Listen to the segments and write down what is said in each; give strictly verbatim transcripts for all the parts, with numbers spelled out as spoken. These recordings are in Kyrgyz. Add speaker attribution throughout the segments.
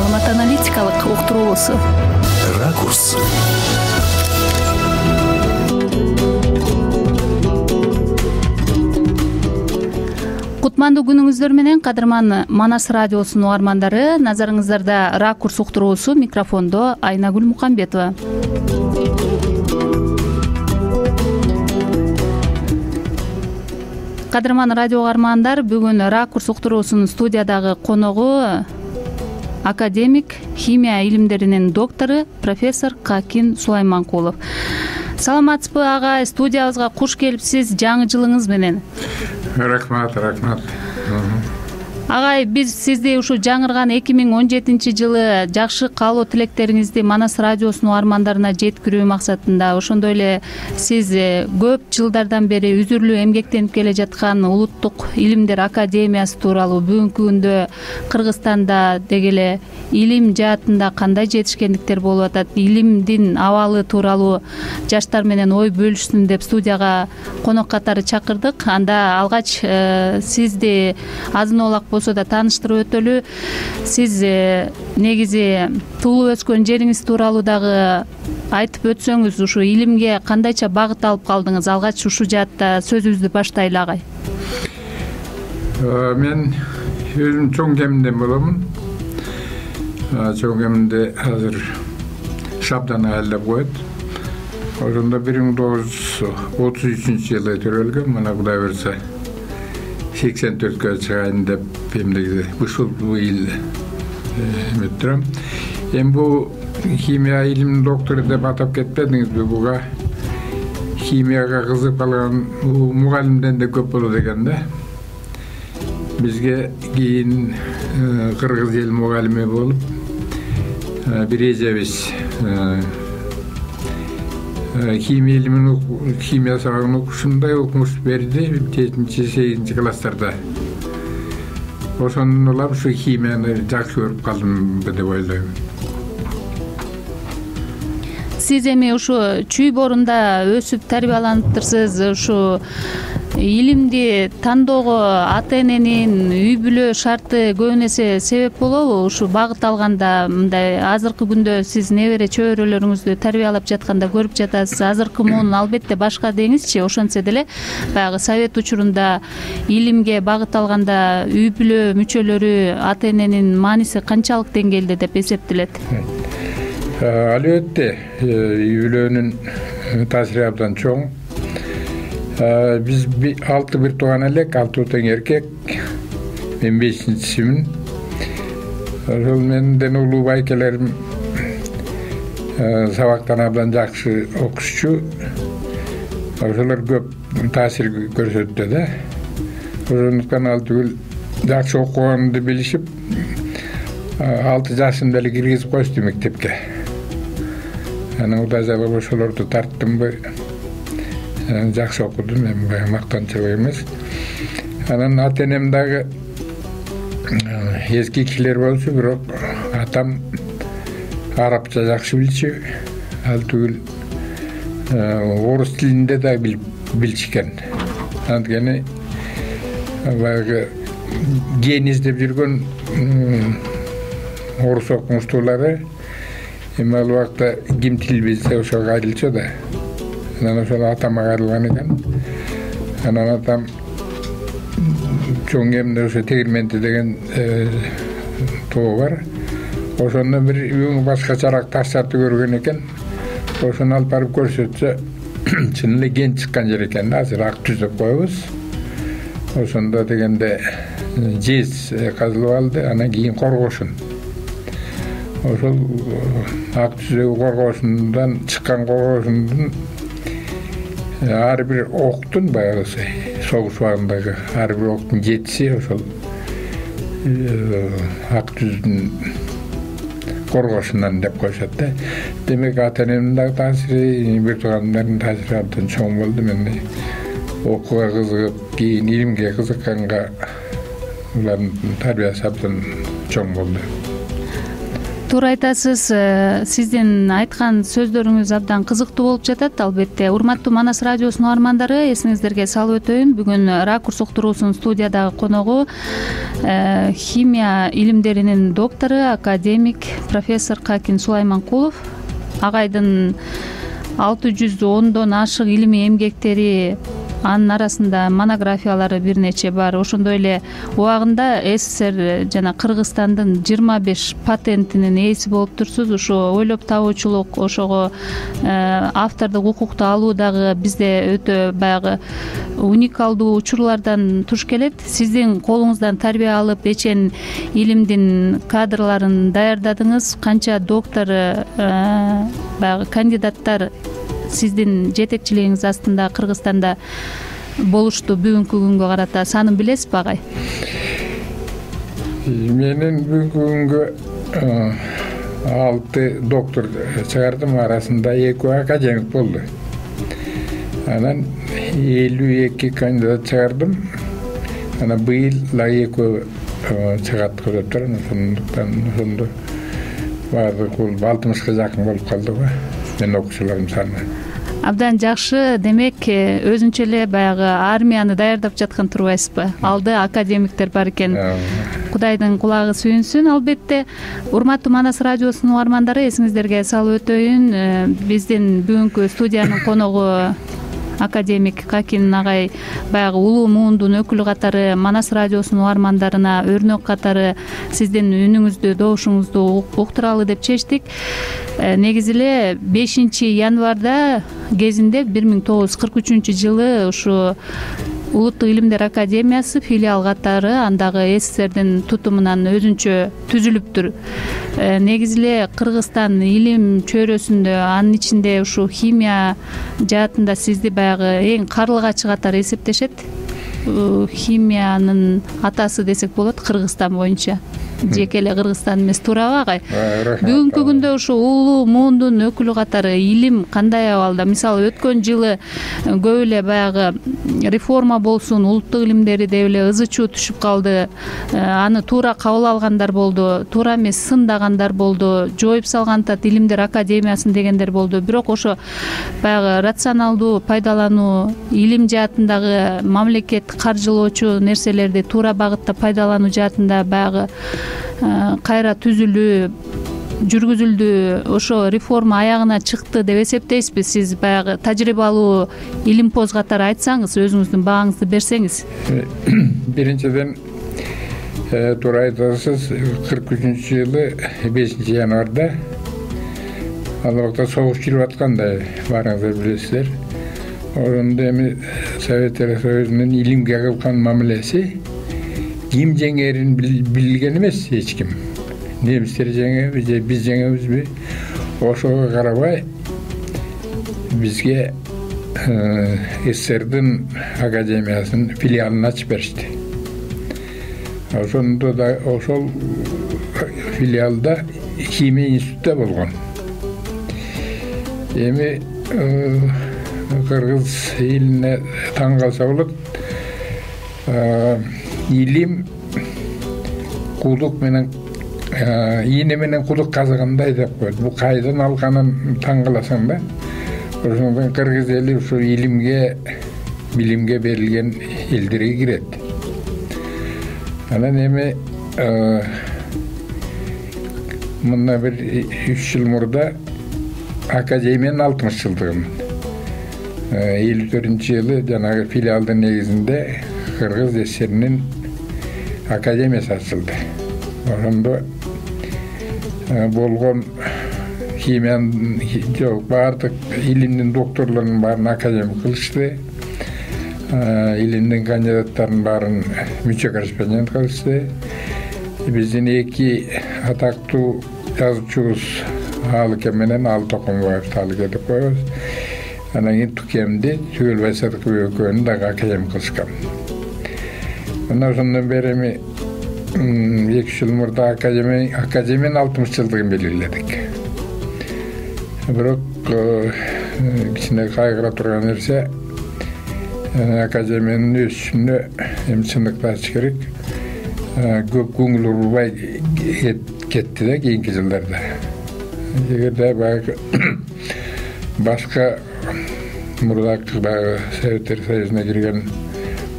Speaker 1: маалымат аналитикалык уктуруусу.
Speaker 2: Ракурс.
Speaker 1: Кутмандуу күнүңүздөр менен, кадырман Манас радиосунун угармандары. Назарыңыздарда Ракурс уктуруусу, микрофондо Айнагүл Мукамбетова. Кадырман радио угармандар, бүгүн Ракурс уктуруусунун студиядагы коногу академик, химия илимдеринин доктору, профессор Какин Сулайманкулов. Саламатсызбы агай, студиябызга куш келипсиз жаңы жылыңыз менен.
Speaker 3: Рахмат, рахмат.
Speaker 1: Агай, биз сизди ушу жаңырган эки миң он жетинчи жылы жакшы каалоо тилектериңизди Манас радиосунун угармандарына жеткирүү максатында, ошондой эле сиз көп жылдардан бери үзүрлүү эмгектенип келе жаткан Улуттук илимдер академиясы тууралуу, бүгүнкү күндө Кыргызстанда деги эле илим жаатында кандай жетишкендиктер болуп атат, илимдин абалы тууралуу жаштар менен ой бөлүшсүн деп студияга конок катары чакырдык. Анда алгач э, сизди азын-олак болсо да тааныштырып өтөлү. Сиз э, негизи туулуп өскөн жериңиз тууралуу дагы айтып өтсөңүз, ушу илимге кандайча багыт алып калдыңыз? Алгач ушу жаатта сөзүбүздү баштайлы, агай.
Speaker 3: Мен өзүм чоң кеминден боломун. Чоң кеминде азыр Шабдан айылдап коет. Ошондо бир миң тогуз жүз отуз үчүнчү жылы төрөлгөм. Мына Кудай буйрса сексен төрткө чыгайын деп эмне ушул быйыл өттүрөм. Эми бул химия илиминин доктору деп атап кетпедиңизби? Буга химияга кызыгып калган мугалимден да көп болот экен да. Бизге кийин кыргыз эл мугалими болуп бир эжебиз химия илимин химия сабагын окушундай окумуш берди жетинчи сегизинчи класстарда. Ошондон улам ушу химияны жакшы көрүп калдым деп ойлойм.
Speaker 1: Сиз эми ушу чүй борунда өсүп тарбияланыптырсыз. Ушу илимди тандоого ата-эненин үй бүлө шарты көбүн эсе себеп болобу? Ушу багыт алганда, мындай азыркы күндө сиз небере чөбөрөлөрүңүздү тарбиялап жатканда көрүп жатасыз. Азыркы муун албетте башка деңизчи, ошентсе деле баягы совет учурунда илимге багыт алганда үй бүлө мүчөлөрү, ата-эненин мааниси канчалык деңгээлде деп эсептелет?
Speaker 3: Албетте, үй бүлөнүн таасири абдан чоң. Биз алты бир тууган элек, алты тең эркек. Мен бешинчисимин. Ошол менден улуу байкелерим сабактан абдан жакшы окушчу. Ошолор көп таасир көрсөттү да. Ошондуктан ал түгүл жакшы окуганымды билишип, алты жашымда эле киргизип коюшту мектепке. Анан Кудай жагып ошолорду тарттымбы, жакшы окудум, эми баягы мактанчылык эмес. Анан ата-энем дагы эски кишилер болчу, бирок атам арабча жакшы билчү. Ал түгүл орус тилинде да билчүкен. Анткени баягы ген издеп жүргөн орус окумуштуулары эми ал убакта ким тил билсе ошого кайрылчу да. Анан ошол атама кайрылган экен. Анан атам чоң кеминде ошо тегирменти деген тоо бар. Ошондон бир үң башкачараак таштарды көргөн экен. Ошону алып барып көрсөтсө, чын эле ген чыккан жер экен да. Азыр ак түз деп коебуз. Ошондо дегенде жез казылып алды, анан кийин коргошун. Ошол ак түздөгү коргошундан чыккан коргошундун ар бир октун, баягы согуш убагындагы ар бир октун жетиси ошол ак түздүн коргошунан деп коюшат да. Демек ата-энемдин дагы таасири, бир туугандардын таасири абдан чоң болду. Мен окууга кызыгып, кийин илимге кызыкканга улардын тарбиясы абдан чоң болду.
Speaker 1: туура айтасыз. Сиздин айткан сөздөрүңүз абдан кызыктуу болуп жатат. Албетте, урматтуу Манас радиосунун угармандары, эсиңиздерге салып өтөйүн, бүгүн Ракурс уктуруусунун студиядагы коногу химия илимдеринин доктору, академик, профессор Какин Сулайманкулов. Агайдын алты жүз ондон ашык илимий эмгектери, анын арасында монографиялары бир нече бар. Ошондой эле убагында СССР жана Кыргызстандын жыйырма беш патентинин ээси болуп турсуз. Ушу ойлоп табуучулук, ошого автордук укукту алуу дагы бизде өтө баягы уникалдуу учурлардан туш келет. Сиздин колуңуздан тарбия алып, эчен илимдин кадрларын даярдадыңыз. Канча доктор, баягы кандидаттар сиздин жетекчилигиңиз астында Кыргызстанда болушту бүгүнкү күнгө карата? Санын билесизби, агай?
Speaker 3: Менин бүгүнкү күнгө алты доктор чыгардым, арасында экөө академик болду. Анан элүү эки кандидат чыгардым. Анан быйыл дагы экөө чыгат деп турат. Ошондуктан ошондо баардык бул алтымышка жакын болуп калды го менин окуучуларым саны.
Speaker 1: Абдан жакшы. Демек, өзүнчө эле баягы армияны даярдап жаткан турбайсызбы? Алды академиктер бар экен. Кудайдын кулагы сүйүнсүн. Албетте, урматтуу Манас радиосунун угармандары, эсиңиздерге салып өтөйүн, биздин бүгүнкү студиянын коногу академик Какин агай баягы улуу муундун өкүлү катары Манас радиосунун угармандарына өрнөк катары сиздин үнүңүздү, добушуңузду уктуралы деп чечтик. Негизи эле бешинчи январда кезинде бир миң тогуз жүз кырк үчүнчү жылы ушу Улуттук илимдер академиясы филиал катары андагы СССРдин тутумунан өзүнчө түзүлүптүр. Негизи эле Кыргызстан илим чөйрөсүндө, анын ичинде ушу химия жаатында сизди баягы эң карлыгачы катары эсептешет. Химиянын атасы десек болот Кыргызстан боюнча. Жеке эле Кыргызстан эмес, туурабы, агай? Бүгүнкү күндө ушу улуу муундун өкүлү катары илим кандай абалда? Мисалы, өткөн жылы көп эле баягы реформа болсун, улуттук илимдери деп эле ызы чуу түшүп калды. Аны туура кабыл алгандар болду, туура эмес сындагандар болду, жоюп салган атат илимдер академиясын дегендер болду. Бирок ошо баягы рационалдуу пайдалануу, илим жаатындагы мамлекет каржылоочу нерселерди туура багытта пайдалануу жаатында баягы кайра түзүлүү жүргүзүлдү. Ошо реформа аягына чыкты деп эсептейсизби? Сиз баягы тажрыйбалуу илимпоз катары айтсаңыз, өзүңүздүн бааңызды берсеңиз.
Speaker 3: Биринчиден, туура айтасыз, кырк үчүнчү жылы бешинчи январда ал убакта согуш жүрүп атканда, баарыңыздар билесиздер. Ошондо эми Советтер Союзунун илимге кылган мамилеси ким жеңерин билген эмес эч ким. Немистер жеңеби же биз жеңебизби? Ошого карабай бизге СССРдин академиясынын филиалын ачып беришти. Ошондо да ошол филиалда химия институту болгон. Эми кыргыз элине таң калса болот. Илим кудук менен ийне менен кудук казыгандай деп коет. Бул кайдан алганын таң каласың да. Ошондон кыргыз эли ушу илимге, билимге берилген элдерге кирет. Анан эми мына бир үч жыл мурда академиянын алтымыш жылдыгын элүү төртүнчү жылы жанагы филиалдын негизинде Кыргыз СССРинин академиясы ачылды. Ошондо болгон химиянын жок баардык илимдин докторлорунун баарын академик кылышты. Илимдин кандидаттарын баарын мүчө корреспондент кылышты. Биздин эки атактуу жазуучубуз Алыке менен Алы Токомбаев Алыке деп коебуз. Анан кийин Тукемди Түгөлбай Садыкбек экөөнү дагы академик кылышкан. Мына ошондон бери эми эки жыл мурда академиянын алтымыш жылдыгын белгиледик. Бирок кичине кайгыра турган нерсе, академиянын өсүшүнө эми чындыкты айтыш керек. Көп көңүл бурбай кетти да кийинки жылдарда. Эгерде баягы башка мурдакы баягы Советтер Союзуна кирген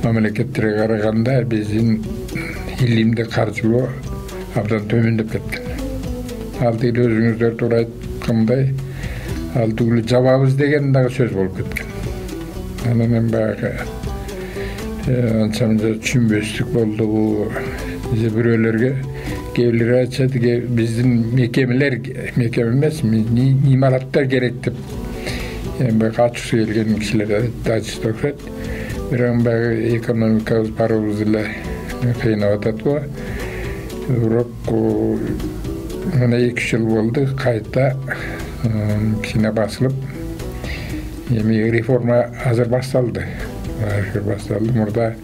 Speaker 3: мамлекеттерге караганда биздин илимди каржылоо абдан төмөндөп кеткен. Ал тиги өзүңүздөр туура айткандай, ал түгүлү жабабыз деген дагы сөз болуп кеткен. Анан эми баягы анча мынча түшүнбөстүк болду. Бирөөлөргө кээ бирлери айтышат, биздин мекемелер, мекеме эмес, имараттар керек деп эми ачуусу келген кишилер айтышат окшойт. Бирок баягы экономикабыз барыбыз эле кыйнап атат го. Бирок мына эки жыл болду кайта кичине басылып, эми реформа азыр башталды. Азыр башталды. Мурда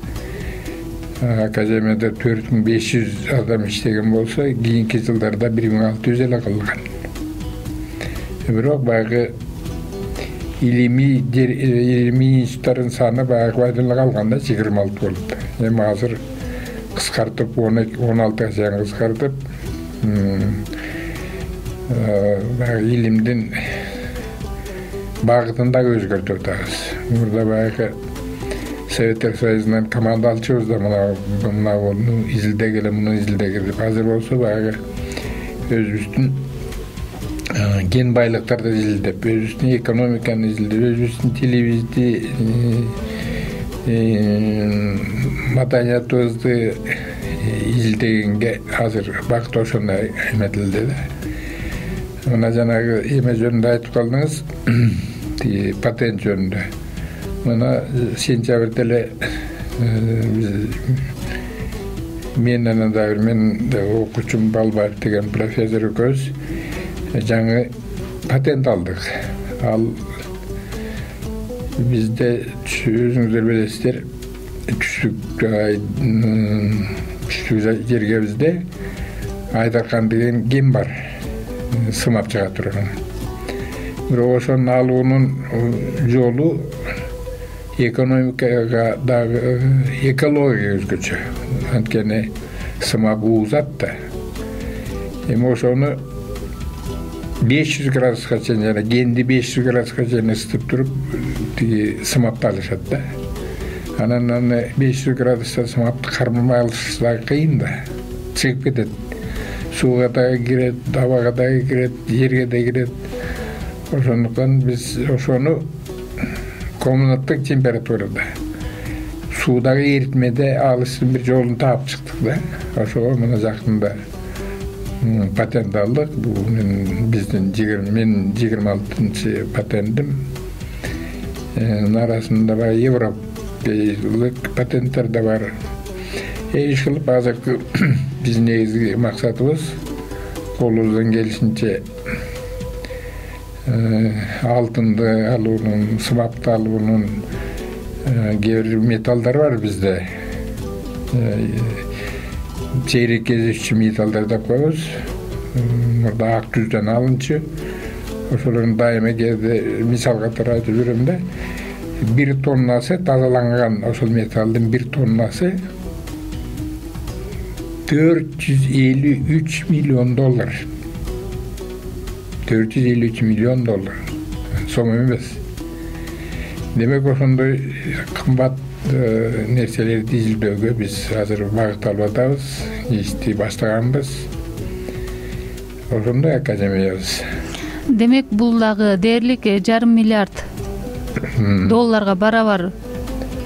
Speaker 3: академияда төрт миң беш жүз адам иштеген болсо, кийинки жылдарда бир миң алты жүз эле калган. Бирок баягы илимий илимий институттардын саны баягы эле калган да, жыйырма алты болуп. Эми азыр кыскартып, он алтыга чейин кыскартып, баягы илимдин багытын дагы өзгөртүп атабыз. Мурда баягы Советтер Союзунан команда алчубуз да, мына мына изилдегиле, муну изилдегиле. Азыр болсо баягы өзүбүздүн ген байлыктарды изилдеп, өзүбүздүн экономиканы изилдеп, өзүбүздүн тилибизди, маданиятыбызды изилдегенге азыр багыт ошондо эметилди да. Мына жанагы эме жөнүндө айтып калдыңыз, тиги патент жөнүндө. Мына сентябрда эле мен анан дагы мен окуучум Балбаев деген профессор экөөбүз жаңы патент алдык. Ал бизде өзүңүздөр билесиздер, түштүк түштүк жерге бизде Айдаркан деген ген бар, сымап чыга турган. Бирок ошонун алуунун жолу экономикага дагы, экологияга өзгөчө. Анткени сымап уузат да. Эми ошону беш жүз градуска чейин, жана генди беш жүз градуска чейин ысытып туруп, тиги сымапты алышат да. Анан аны беш жүз градуста сымапты кармай алыш дагы кыйын да. Чыгып кетет. Сууга дагы кирет, абага дагы кирет, жерге да кирет. Ошондуктан биз ошону комнаттык температурада, суудагы эритмеде алыштын бир жолун таап чыктык да. Ошого мына жакында патент алдык. Бул биздин мен жыйырма алтынчы патентим. Арасында бар европалык патенттер да бар. Иш кылып азыркы биздин негизги максатыбыз колубуздан келишинче алтынды алуунун, сымапты алуунун, кээ бир металлдар бар бизде. Чейрек кезекчи металлдар деп коебуз. Мурда ак түздөн алынчу. Ошолордун дайыма кээде мисал катары айтып жүрөм да. Бир тоннасы тазаланган ошол металлдын бир тоннасы төрт жүз элүү үч миллион доллар. төрт жүз элүү үч миллион доллар. Сом эмес. Демек ошондой кымбат нерселерди изилдөөгө биз азыр багыт алып атабыз, ишти баштаганбыз. Ошондой академиябыз.
Speaker 1: Демек бул дагы дээрлик жарым миллиард долларга барабар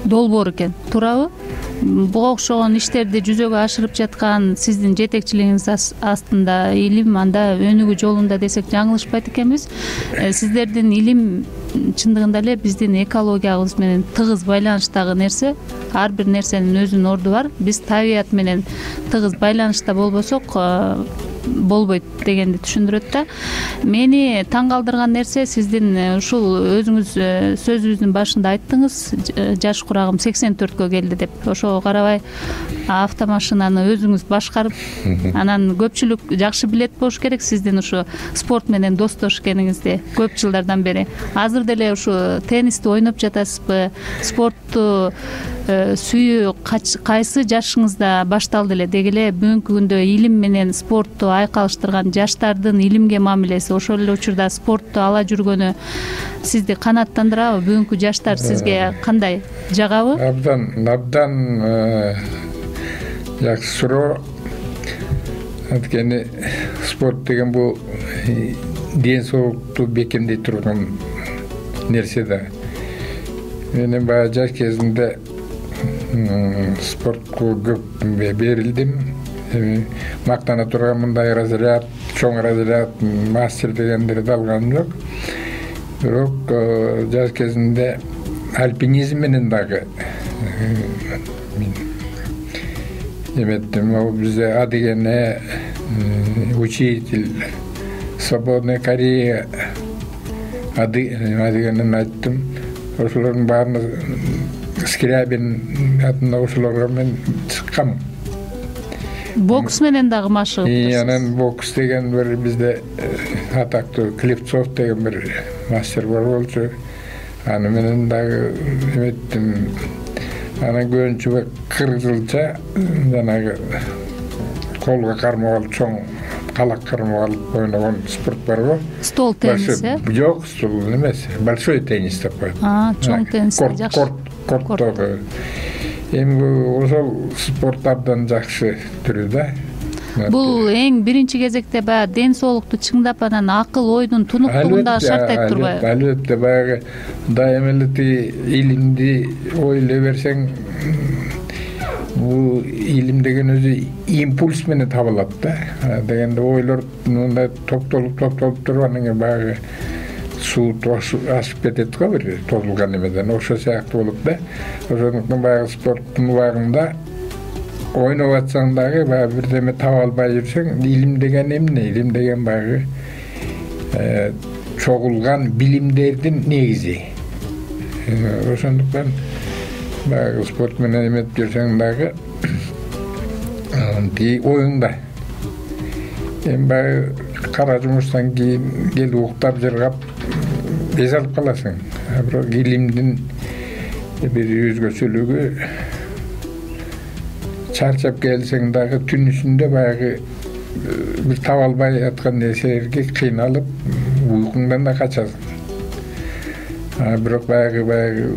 Speaker 1: долбоор экен, туурабы? Буга окшогон иштерди жүзөгө ашырып жаткан сиздин жетекчилигиңиз астында илим анда өнүгүү жолунда десек жаңылышпайт экенбиз. Сиздердин илим чындыгында эле биздин экологиябыз менен тыгыз байланыштагы нерсе. Ар бир нерсенин өзүнүн орду бар. Биз табият менен тыгыз байланышта болбосок болбойт дегенди түшүндүрөт да. Мени таң калтырган нерсе, сиздин ушул өзүңүз сөзүңүздүн башында айттыңыз, жаш курагым сексен төрткө келди деп. Ошого карабай автомашинаны өзүңүз башкарып, анан көпчүлүк жакшы билет болуш керек сиздин ушу спорт менен достош экениңизди көп жылдардан бери. Азыр деле ушу теннисти ойноп жатасызбы? Спортту сүйүү кайсы жашыңызда башталды эле? Деги эле бүгүнкү күндө илим менен спортту айкалыштырган жаштардын илимге мамилеси, ошол эле учурда спортту ала жүргөнү сизди канааттандырабы? Бүгүнкү жаштар сизге кандай, жагабы?
Speaker 3: Абдан абдан жакшы суроо. Анткени спорт деген бул ден соолукту бекемдей турган нерсе да. Мен баягы жаш кезимде спортко көп берилдим. Мактана турган мындай разряд, чоң разряд, мастер дегендерди алганым жок. Бирок жаш кезимде альпинизм менен дагы эметтим. Ал бизде А дегене учитель, Свободная Корея, А дегенин айттым. Ошолордун баарына Скрябин атында ошолорго мен чыккам.
Speaker 1: Бокс менен дагы машыгып.
Speaker 3: Анан бокс деген бир бизде атактуу Клевцов деген бир мастер бар болчу. Аны менен дагы эметтим. Анан көбүнчө кырк жылча жанагы колго кармап алып, чоң калак кармап алып ойногон спорт барбы?
Speaker 1: Стол тенниси?
Speaker 3: Жок, стол эмес, большой теннис деп коет.
Speaker 1: А, чоң теннис жакшы.
Speaker 3: Корттогу. Эми ошол спорт абдан жакшы түрү да.
Speaker 1: Бул эң биринчи кезекте баягы ден соолукту чыңдап, анан акыл ойдун тунуктугун дагы шарттайт турбайбы?
Speaker 3: Албетте, баягы дайыма эле тиги илимди ойлой берсең, бул илим деген өзү импульс менен табылат да. Дегенде ойлор мындай топтолуп топтолуп туруп, анан кийин баягы суу ашып кетет го бир тозулган эмеден. Ошол сыяктуу болуп да. Ошондуктан баягы спорттун убагында ойноп атсаң дагы баягы бирдеме таба албай жүрсөң, илим деген эмне? Илим деген баягы чогулган билимдердин негизи. Ошондуктан баягы спорт менен эметип жүрсөң дагы тиги оюңда. Эми баягы кара жумуштан кийин келип уктап жыргап эс алып каласың. Бирок илимдин бир өзгөчөлүгү, чарчап келсең дагы түн ичинде баягы бир таба албай аткан нерселерге кыйналып уйкуңдан да качасың. Бирок баягы баягы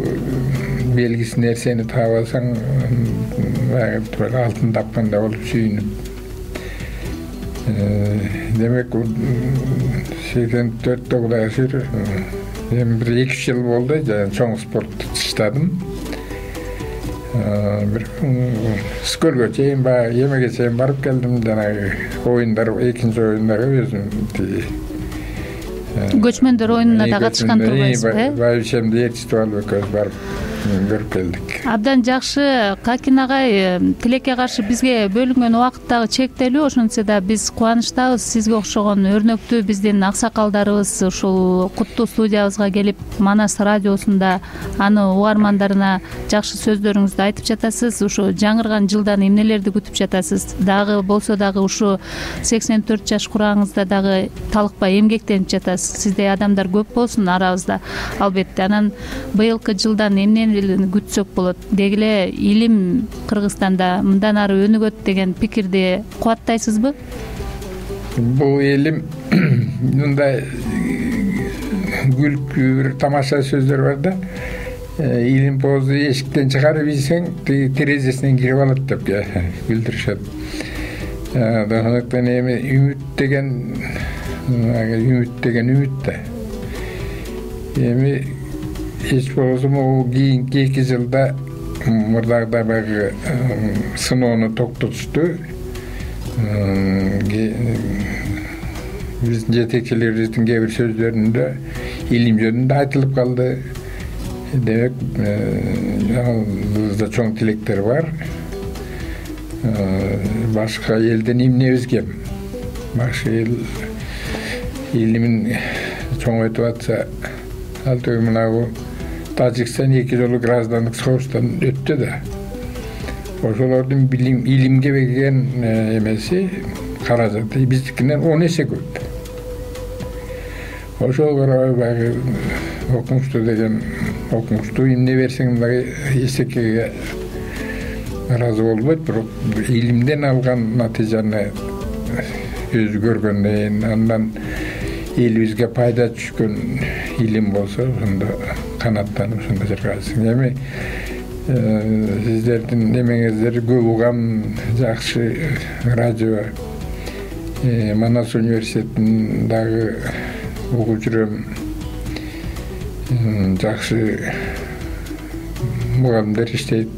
Speaker 3: белгисиз нерсени таап алсаң, баягы алтын тапкандай болуп сүйүнүп. Демек, сексен төрттө Кудай ышыр, эми бир эки үч жыл болду, чоң спортто тыштадым. Бир скөлгө чейин, баягы эмеге чейин барып келдим, жанагы оюндар, экинчи оюндары өзүм тиги
Speaker 1: көчмөндөр оюнуна да катышкан турбайсызбы?
Speaker 3: Байбишемди ээрчитип алып экөөбүз барып көрүп келдик.
Speaker 1: Абдан жакшы. Какин агай, тилекке каршы бизге бөлүнгөн убакыт дагы чектелүү, ошентсе да биз кубанычтабыз. Сизге окшогон өрнөктүү биздин аксакалдарыбыз ушул куттуу студиябызга келип, Манас радиосунда аны угармандарына жакшы сөздөрүңүздү айтып жатасыз. Ушу жаңырган жылдан эмнелерди күтүп жатасыз? Дагы болсо дагы ушу сексен төрт жаш курагыңызда дагы талыкпай эмгектенип жатасыз. Сиздей адамдар көп болсун арабызда, албетте. Анан быйылкы жылдан эмнени күтсөк болот? Деги эле илим Кыргызстанда мындан ары өнүгөт деген пикирди кубаттайсызбы?
Speaker 3: Бул илим мындай күлкү, бир тамаша сөздөр бар да. Илим позу эшиктен чыгарып ийсең, терезесинен кирип алат деп билдиришет. Ошондуктан эми үмүт деген үмүт деген үмүт да. Эми эч болбосо могу кийинки эки жылда мурдагыдай баягы сыноону токтотушту. Биздин жетекчилерибиздин кээ бир сөздөрүндө илим жөнүндө айтылып калды. Демек, бизде чоң тилектер бар. Башка элден эмнебиз кем? Башка эл илимин чоңойтуп атса, ал түгү мынагу Тажикстан эки жолу граждандык согуштан өттү да. Ошолордун билим, илимге берген эмеси, каражаты биздикинен он эсе көп. Ошол баягы окумуштуу деген окумуштуу эмне берсең дагы эсекеге ыраазы болбойт, бирок илимден алган натыйжаны өзү көргөндөн андан элибизге пайда түшкөн илим болсо ошондо канаттанып ошондо чыркайсың. Эми сиздердин немеңиздер көп угам, жакшы радио, Манас университетинин дагы угуп жүрөм. Жакшы мугалимдер иштейт,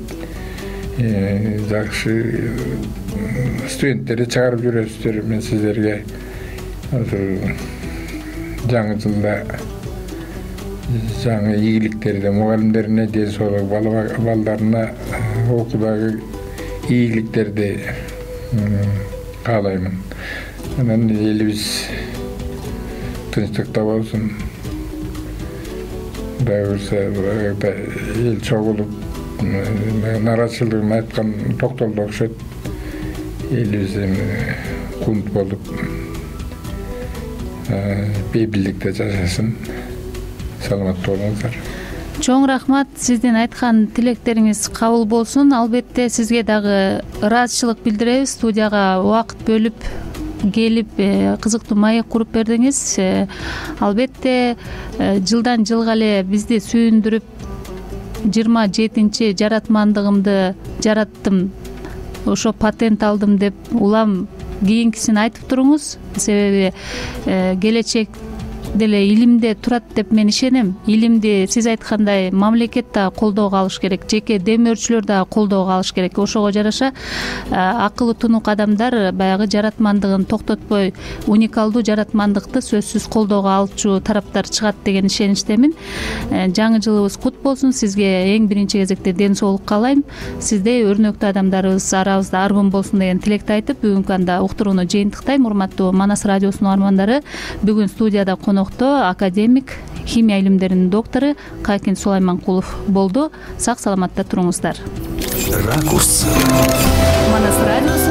Speaker 3: жакшы студенттерди чыгарып жүрөсүздөр. Мен сиздерге ошо жаңы жылда жаңы ийгиликтерди, мугалимдерине ден соолук, балдарына окуудагы ийгиликтерди каалаймын. Анан элибиз тынчтыкта болсун. Дагы эл чогулуп нааразычылыгын айткан токтолду окшойт. Элибиз кунт болуп бейбилдикте жашасын. Саламаттуу болуңуздар.
Speaker 1: Чоң рахмат. Сиздин айткан тилектериңиз кабыл болсун. Албетте сизге дагы ыраазычылык билдиребиз. Студияга убакыт бөлүп келип кызыктуу маек куруп бердиңиз. Албетте жылдан жылга эле бизди сүйүндүрүп жыйырма жетинчи жаратмандыгымды жараттым, ошо патент алдым деп улам кийинкисин айтып туруңуз. Себеби келечек деле илимде турат деп мен ишенем. Илимди сиз айткандай мамлекет да колдоого алыш керек, жеке демөөрчүлөр да колдоого алыш керек. Ошого жараша акылы тунук адамдар баягы жаратмандыгын токтотпой, уникалдуу жаратмандыкты сөзсүз колдоого алчу тараптар чыгат деген ишеничтемин. Жаңы жылыбыз кут болсун. Сизге эң биринчи кезекте ден соолук каалайм. Сиздей өрнөктүү адамдарыбыз арабызда аргын болсун деген тилекти айтып, бүгүнкү анда уктурууну жыйынтыктайм. Урматтуу Манас радиосунун армандары, бүгүн студияда конокто академик, химия илимдеринин доктору Кайкин Сулайманкулов болду. Сак саламатта туруңуздар. Ракурс. Манас радиосу